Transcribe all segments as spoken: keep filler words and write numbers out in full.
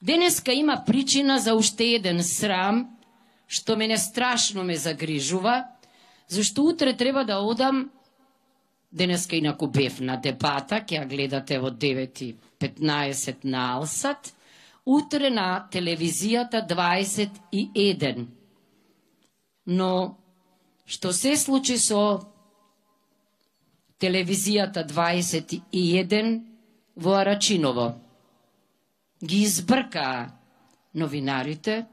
Денеска има причина за уште еден срам, што мене страшно ме загрижува, зашто утре треба да одам, денеска инаку бев на дебата, ќе ја гледате во девет и петнаесет на Алсат, утре на телевизијата дваесет и еден. Но, што се случи со телевизијата дваесет и еден во Арачиново? Ги избркаа новинарите,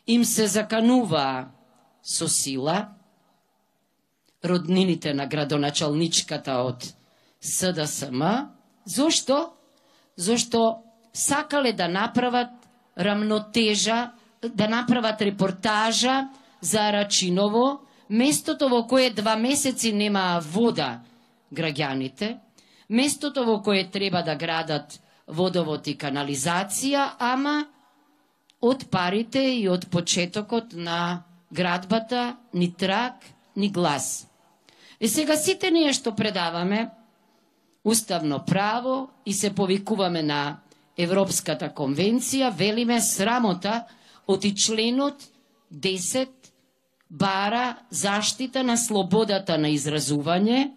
им се заканува со сила, роднините на градоначалничката од С Д С М. Зошто? Зошто сакале да направат рамнотежа, да направат репортажа за Арачиново, местото во кое два месеци немаа вода граѓаните, местото во кое треба да градат водовод и канализација, ама од парите и од почетокот на градбата ни трак, ни глас. И сега сите ние што предаваме уставно право и се повикуваме на Европската конвенција, велиме срамота од и членот десет бара заштита на слободата на изразување.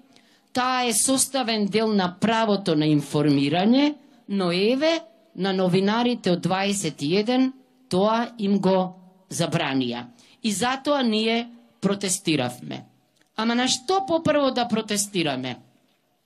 Таа е составен дел на правото на информирање, но еве на новинарите од дваесет и еден тоа им го забранија. И затоа ние протестиравме. Ама на што попрво да протестираме?